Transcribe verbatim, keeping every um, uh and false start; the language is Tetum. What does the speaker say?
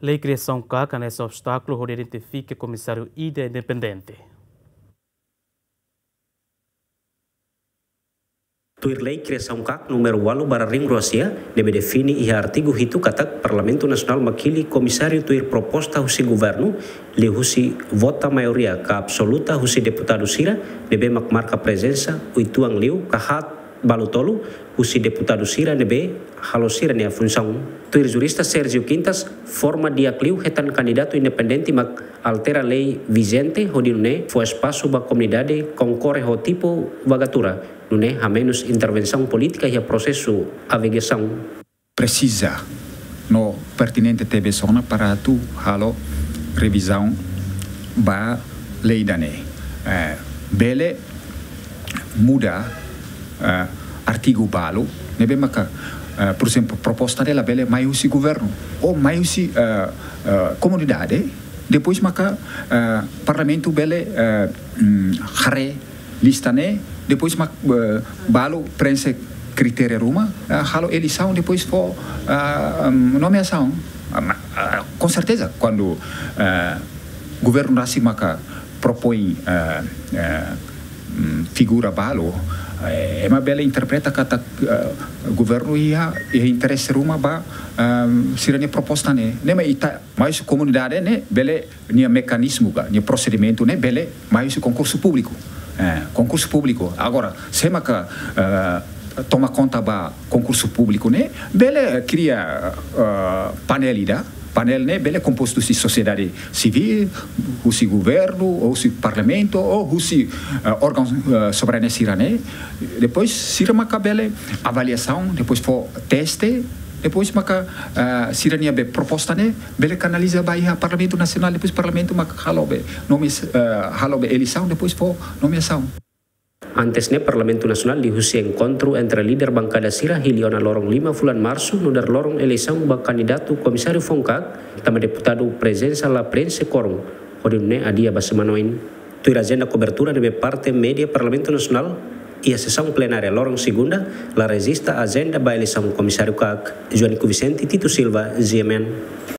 Lei kriasaun KAK hanesan obstákulu hodi identifika komisáriu ida independente. Tuir lei kriasaun KAK númeru ualu barra ringrua sia, ne'ebé define iha artigu hitu katak Parlamentu Nasionál mak hili komisáriu tuir proposta husi governu, liuhusi vota maioria ka absoluta husi deputadu sira ne'ebé mak marka prezensa uitoan liu ka haat balu tolu husi deputadu sira ne'ebé halo sira-nia funsaun. Tuir jurista Sérgio Quintas, forma di'ak liu hetan kandidatu independente mak altera lei vijente hodi nune'e fó espasu ba komunidade konkorre ho tipu vagatura, nune'e hamenus intervensaun polítika iha prosesu avaliasaun. Presiza no pertinente tebes ona para atu halo revizaun ba lei ida-ne'e. Eh, bele muda, eh, artigu balu, ne'ebé maka, eh, por ezemplu, proposta ne'e labele mai husi governu, ou mai husi, eh, eh, komunidade, depois maka, eh, parlamentu bele, eh, mm, haree lista ne'e, depois mak, eh, balu prenxe kritéria ruma, eh, halo eleisaun, depois fó, eh, mm, nomeasaun. Ah, ma-, ah, com certeza, kuandu, eh, governu rasik maka propoin, eh, eh, mm, figura balu, eh, ema bele interpreta katak, eh, governu iha, iha interese ruma ba, eh, sira-nia proposta ne'e. Ne'e mak ita, mais komunidade ne'e bele nia mekanizmu ka, nia prosedimentu ne'e bele mai husi konkursu públiku. Eh, konkursu públiku. Agora, se maka, eh, toma konta ba konkursu públiku ne'e, bele kria, eh, painel ida, painel ne'e bele kompostu husi sosiedade sivíl, husi governu, ou husi parlamentu, ou husi, eh, órgaun, eh, soberania sira-ne'e. Depois, sira maka bele avaliasaun, depois fó teste, depois maka, eh, sira-nia be proposta ne'e, bele kanaliza ba iha Parlamentu Nasionál, depois Parlamentu maka halo be nomes-, eh, halo be eleisaun, depois fó nomeasaun. Antes ne'e, Parlamentu Nasionál liuhusi enkontru entre líder bankada sira hili ona loron lima fulan Marsu, nu'udar loron eleisaun ba kandidatu komisáriu foun KAK, tanba deputadu prezensa la prenxe kuorum, hodi nune'e adia ba semana oin. Tuir ajenda kobertura ne'ebé parte média Parlamentu Nasionál, iha sesaun plenária loron segunda, la rejista ajenda ba eleisaun komisáriu KAK. Joanico Vicente, Tito Silva, G M N.